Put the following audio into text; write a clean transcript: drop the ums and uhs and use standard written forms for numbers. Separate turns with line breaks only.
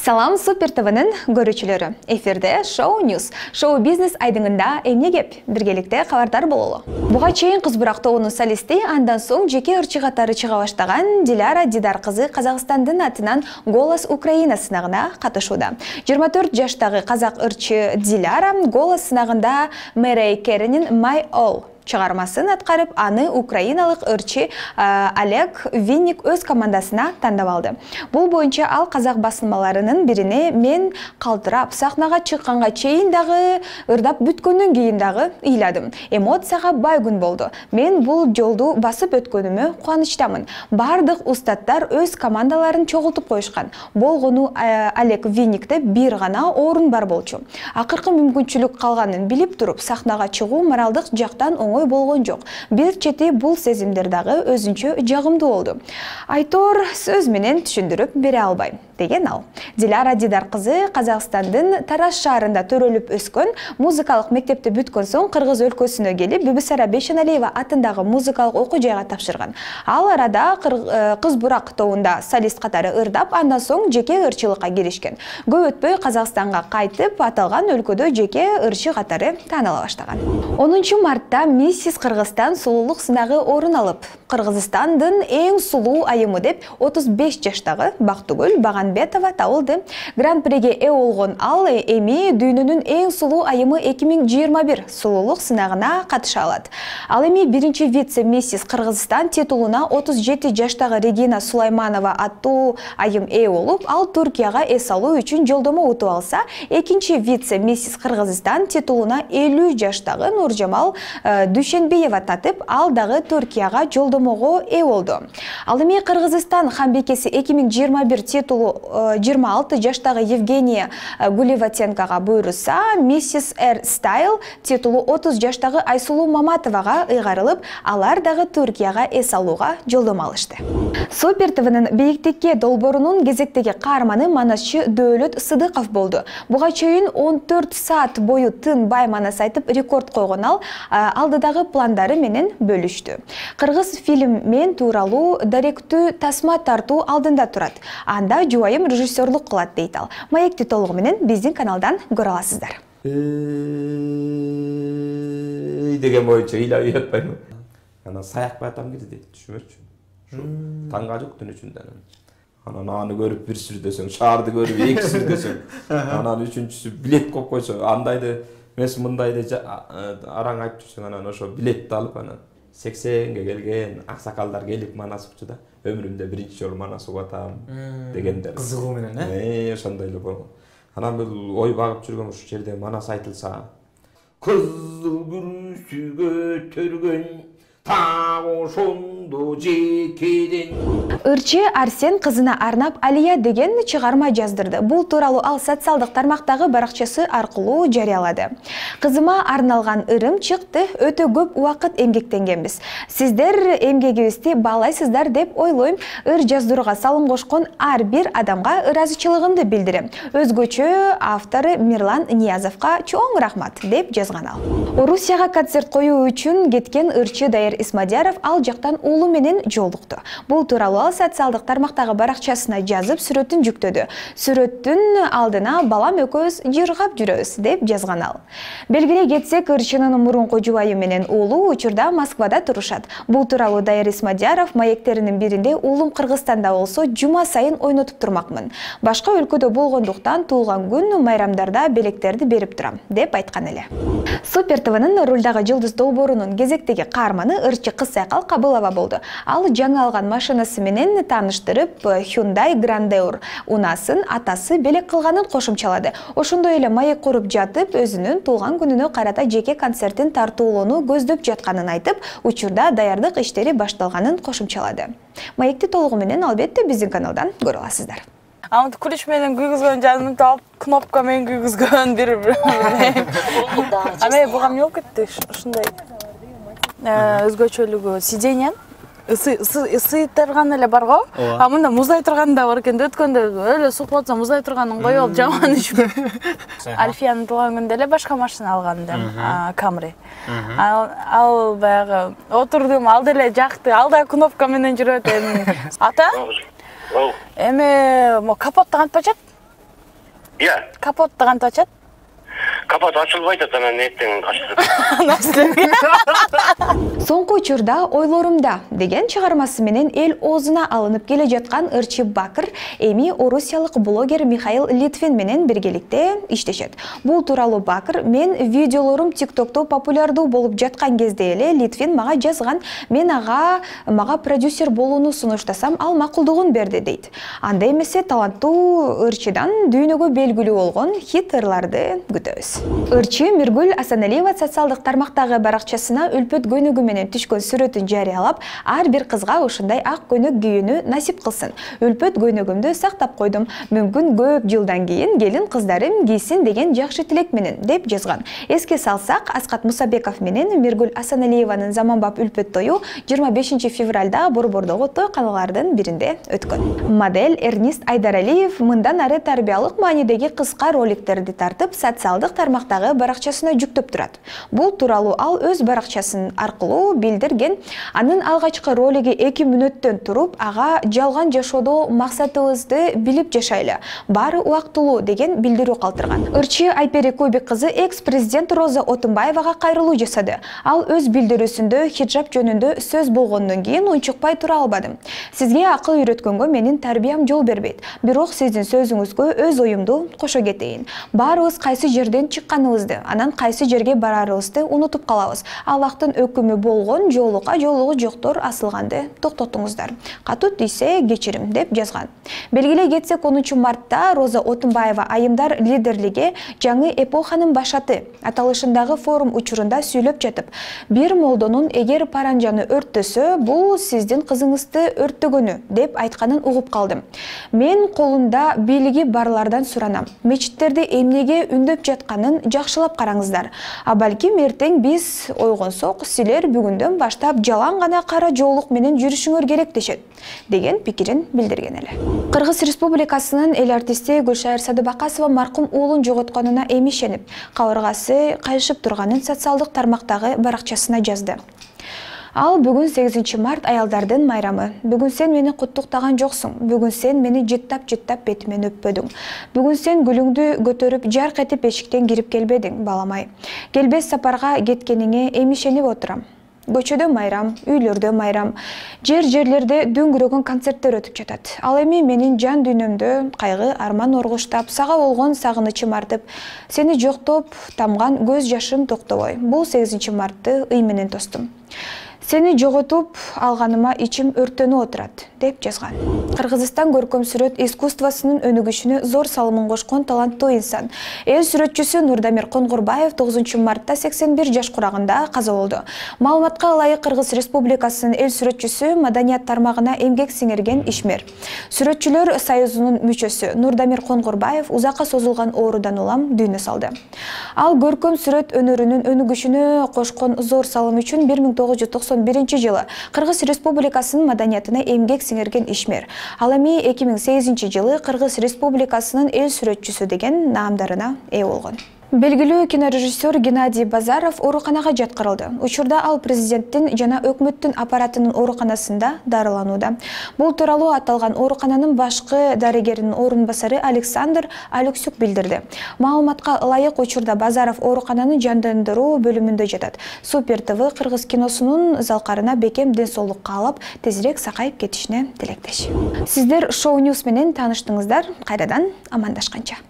Салам Супер ТВнын көрүүчүлөрү. Эфирде Шоу Ньюс. Шоу бизнес айдыңында эмне кеп? Биргеликте кабардар бололу. Буга чейин Кыз Бурак тобунун солисти, андан соң жеке ырчы катары чыга баштаган Диляра Дидар кызы Казакстандын атынан Голос Украина сынагына катышууда. 24 жаштагы казак ырчы Диляра Голос сынагында Мэрей Керенин My All чыгармасын аткарып, аны украиналык ырчы Олег Винник өз командасына тандап алды. Бул боюнча ал казак басылмаларынын бирине мен калтырап, сахнага чыкканга чейин дагы, ырдап бүткөндөн кийин дагы ыйладым. Эмоцияга бай күн болду. Мен бул жолду басып өткөнүмө кубанычтамын. Бардык устаттар өз командаларын чогултуп коюшкан. Болгону Олег Винникте бир гана орун бар болчу. Акыркы мүмкүнчүлүк калганын билип туруп, сахнага чыгуу моралдык жактан болгон жок. Бир чети бул сезимдер дагы өзүнчө жагымдуу болду. Айтор сөз менен түшүндүрүп бере албайм, деген ал. Диляра Дидар кызы Казакстандын Тараз шаарында төрөлүп өскөн, музыкалык мектепти бүткөн соң Кыргыз өлкөсүнө келип, Бибисара Бейшеналиева атындагы музыкалык окуу жайга тапшырган. Ал арада Кыз Бурак тобунда солист катары ырдап, андан соң жеке ырчылыкка киришкен. Көп өтпөй Казакстанга кайтып, аталган өлкөдө жеке ырчы катары тааныла баштаган. 10 мартта Миссис Кыргызстан сулуулук сынагы орун алып, Кыргызстандын эң сулуу айымы деп 35 жаштагы Бактыгүл Баганбетова табылды. Гран-приге ээ болгон ал эми дүйнөнүн эң сулуу айымы 2021 сулуулук сынагына катыша алат. Ал эми биринчи вице-миссис Кыргызстан титулуна 37 жаштагы Регина Сулайманова аттуу айым ээ болуп, ал Түркияга эс алуу үчүн жолдомо утуп алса, экинчи вице-миссис Кыргызстан титулуна 50 жаштагы Нуржамал Дүйшенбиева татып, ал дагы Түркияга жолдомого ээ болду. Ал эми Кыргызстан хамбекеси 2021 титулу 26 жаштагы Евгения Гуливатенкага буйруса, Миссис Эр Стайл титулу 30 жаштагы Айсулуу Маматовага ыйгарылып, алар дагы Түркияга эс алууга жолдомо алышты. Супер ТВнын бийиктикке долбоорунун кезектеги каарманы манасчы Дөөлөт Сыдыков болду. Буга чейин 14 саат бою тынбай манас айтып рекорд койгон ал алдыдагы пландары менен бөлүштү. Кыргыз фильм мен тууралуу даректүү тасма тартуу алдында турат. Анда жубайым режиссерлук кылат дейт ал. Маекти толугу менен биздин каналдан көрө аласыздар.
Деген боюнча ыйлап жатпаймын. Ана саякпай атам кирди дейт, түшүнбөчү. Таңга жок түн ичинде. Анан аны көрүп бир сүрдөсөң, шаарды көрүп эки сүрдөсөң, анан үчүнчүсү билет коюп койсо, андайды эмес мындайды араң айтып жүрсөң, анан ошо билетти алып, анан 80ге келген аксакалдар келип манас учу да. Өмүрүмдө биринчи жолу манас угуп атам дегендер.
Кызыгуу менен,
ошондой эле болгон. Анан бул ой багып жүргөн ушул жерде манас айтылса, кызыл күрүшүгө төргөн так ошондо жекеден.
Ырчы Арсен кызына арнап Алия деген чыгарма жаздырды. Бул тууралуу ал социалдык тармактагы баракчасы аркылуу жарыялады. Кызыма арналган ырым чыкты, өтө көп убакыт эмгектенгенбиз. Сиздер эмгегибизди баалайсыздар деп ойлойм. Ыр жаздырууга салым кошкон ар бир адамга ыраазычылыгымды билдирем. Өзгөчө автору Мирлан Ниязовго чоң рахмат деп жазган ал. Орусияга концерт коюу үчүн кеткен ырчы Дайыр Исмадияров ал жактан уулу менен жолукту. Бул тууралуу ал социалдык тармактагы баракчасына жазып, сүрөтүн жүктөдү. Сүрөттүн алдына балам экөөбүз жыргап жүрөбүз деп жазган ал. Белгилей кетсек, ырчынын мурунку жубайы менен уулу учурда Москвада турушат. Бул тууралуу Дайыр Исмадияров маектеринин биринде уулум Кыргызстанда болсо, жума сайын ойнотуп турмакмын. Башка өлкөдө болгондуктан туулган күн майрамдарда белектерди берип турам деп айткан эле. Супер ТВнын рулдагы жылдыз долбоорунун кезектеги каарманы ырчы Кыз Сайкал Кабылова болду. Ал жаңы алган машинасы менен тааныштырып, Hyundai Grandeur унасын атасы белек кылганын кошумчалады. Ошондой эле маек куруп жатып, өзүнүн туулган күнүнө карата жеке концертин тартуулоону көздөп жатканын айтып, учурда даярдык иштери башталганын кошумчалады. Маекти толугу менен албетте биздин каналдан көрө аласыздар.
Амт ключ менен күйгүзгөн жанымды алып, кнопка менен күйгүзгөн бир. Аме буга эмне болуп кетти? Ушундай өзгөчөлүгү сиденье ысытырган эле бар го. А мында муздай турган да бар экен. Өткөндө эле сук болсо муздай турганын коюп алып жаман ичип. Альфиянын туулган күндө эле башка машина алганда, Camry. Ал баягы отурдум, ал деле жакты. Ал да кнопка менен жүрөт. Ата? Эме капотто кантип ачат?
Иә.
Капотты кантип ачат?
Капот ачылбайт, анан эртең ачылат.
Соңку учурда ойлорумда деген чыгармасы менен эл оозуна алынып келе жаткан Ырчы Бакыр эми орусиялык блогер Михаил Литвин менен биргеликте иштешет. Бул тууралуу Бакыр мен видеолорум TikTok'то популярдуу болуп жаткан кезде эле Литвин мага жазган, мен мага продюсер болууну сунуштасам, ал макулдугун берди дейт. Анда эмесе таланттуу Ырчыдан дүйнөгө белгилүү болгон хит ырларды күтөбүз. Ырчы Миргүл Асаналиева социалдык тармактагы баракчасына үлпөт көнөгү менен түшкөн сүрөтүн жарыялап, ар бир кызга ушундай ак көнөк кийүүнү насип кылсын. Үлпөт көнөгүмдү сактап койдум. Мүмкүн көп жылдан кийин келин кыздарым кийсин деген жакшы тилек менен деп жазган. Эске салсак, Аскат Мусабеков менен Миргүл Асаналиеванын заманбап үлпөт тою 25 февралда Борбордогу тойканалардын биринде өткөн. Модель Эрнист Айдаралиев мындан ары тарбиялык маанидеги кыска роликтерди тартып, социалдык тармактагы баракчасына жүктөп турат. Бул тууралуу ал өз баракчасын аркылуу билдирген. Анын алгачкы ролиги 2 мүнөттөн туруп, ага жалган жашоодо максатыбызды билип жашайлы, баары убактылуу деген билдирүү калтырган. Ырчы Айпери Кубик кызы экс-президент Роза Отунбаевага кайрылуу жасады. Ал өз билдирүүсүндө хиджаб жөнүндө сөз болгондон кийин унчукпай тура албадым. Сизге акыл үйрөткөнгө менин тарбиям жол бербейт. Бирок сиздин сөзүңүзгө өз оюмду кошо кетейин. Баарыбыз кайсы жерден чыкканыбызды, анан кайсы жерге барарыбызды унутуп калабыз. Аллахтын өкүмү болгон жоолукка жоолугу жоктор асылганды токтотуңуздар. Катуу тийсе кечирим деп жазган. Белгилей кетсек, 10 мартта Роза Отунбаева айымдар лидерлиги жаңы эпоханын башаты аталышындагы форум учурунда сүйлөп жатып, бир молдонун эгер паранжаны өрттөсө, бул сиздин кызыңызды өрттөгөнү деп айтканын угуп калдым. Мен колунда бийлиги барлардан суранам. Мечиттерди эмнеге үндөп жатканын жакшылап караңыздар. А балким эртең биз ойгонсок, силер бүгүндөн баштап жалаң гана кара жоолук менен жүрүшүңөр керек дешет, деген пикирин билдирген эле. Кыргыз Республикасынын эл артисти Гүлшайыр Садыбакасова маркум уулун жоготконуна эмишенип, кабыргасы кайышып турганын социалдык тармактагы баракчасына жазды. Ал бүгүн 8 март аялдардын майрамы. Бүгүн сен мени куттуктаган жоксуң. Бүгүн сен мени жыттап бетимен өппөдүң. Бүгүн сен гүлүңдү көтөрүп жарк этип эшиктен кирип келбедиң, баламай. Келбес сапарга кеткениңе эмишенип отурам. Көчөдө майрам, үйлөрдө майрам, жерлерде дөңгүрөгөн концерттер өтүп жатат. Ал эми менин жан дүйнөмдө кайгы, арман оргуштап, сага болгон сагынычым артып, сени жоктоп, тамган көз жашым токтобой. Бул 8 мартты ый менен тостум. Сени жоготуп алганыма ичим өртөнүп отурат, деп жазган. Кыргызстан көркөм сүрөт искусствосунун өнүгүшүнө зор салымын кошкон таланттуу инсан. Эл сүрөтчүсү Нурдамир Конгурбаев 9 мартта 81 жаш курагында каза болду. Маалыматка ылайык, Кыргыз Республикасынын эл сүрөтчүсү, маданият тармагына эмгек сиңирген ишмер. Сүрөтчүлөр союзунун мүчөсү Нурдамир Конгурбаев узакка созулган оорудан улам дүйнө салды. Ал көркөм сүрөт өнөрүнүн өнүгүшүнө кошкон зор салым үчүн 1991 жылы Кыргыз Республикасынын маданиятына эмгек сиңирген ишмер. Ал эми 2008 жылы Кыргыз Республикасынын эл сүрөтчүсү деген наамдарына ээ болгон. Белгилүү кинорежиссер Геннадий Базаров ооруканага жаткырылды. Учурда ал президенттин жана өкмөттүн аппаратынын ооруканасында дарыланууда. Бул тууралуу аталган оорукананын башкы дарыгеринин орун басары Александр Алексюк билдирди. Маалыматка ылайык, учурда Базаров оорукананын жандандыруу бөлүмүндө жатат. Супер ТВ Кыргыз киносунун залкарына бекем ден соолук каалап, тезирээк сакайып кетишине тилектеш. Сиздер Шоу Ньюс менен тааныштыңыздар. Кайрадан амандашканча.